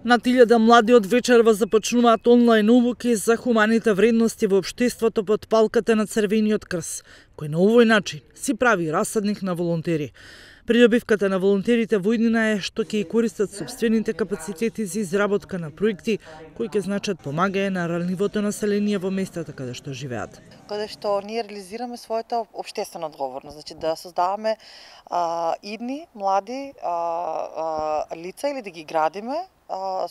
Над 1000 млади од вечерва започнуваат онлайн обуки за хуманите вредности во општеството под палката на Црвениот крст, кој на овој начин си прави расадник на волонтери. Придобивката на волонтерите во иднина е што ќе користат сопствените капацитети за изработка на проекти кои ќе значат помагање на ранливото население во местата каде што живеат. Каде што ние реализираме својата општествена одговорност, значи да создаваме идни млади лица или да ги градиме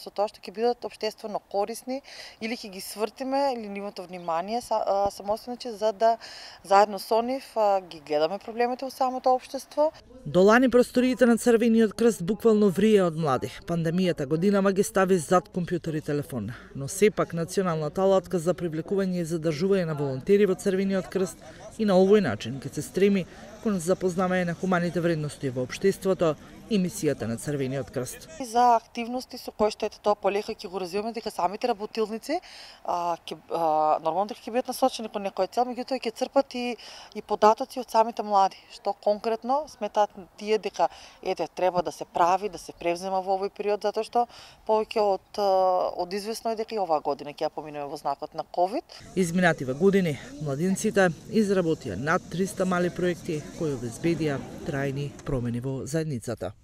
со тоа што ќе бидат општествено корисни или ќе ги свртиме или нивото внимание самостојно, за да заедно со нив ги гледаме проблемите во самото општество. До лани просториите на Црвениот крст буквално врие од млади. Пандемијата годинама ги стави зад компјутер и телефон, но сепак националната алатка за привлекување и задржување на волонтери во Црвениот крст и на овој начин ќе се стреми кон запознавање на хуманите вредности во општеството и мисијата на Црвениот крст. За активности со кои што тоа полека ќе го развиваме, дека самите работилници нормално дека ќе бидат насочени кон некоја цел, меѓутоа ќе црпат и податоци од самите млади, што конкретно сметаат тие дека треба да се прави, да се превзема во овој период, затоа што повеќе од известно е дека и оваа година ќе ја поминеме во знакот на ковид. Изминативе години младинците изработија над 300 мали проекти кои обезбедија трајни промени во заедницата.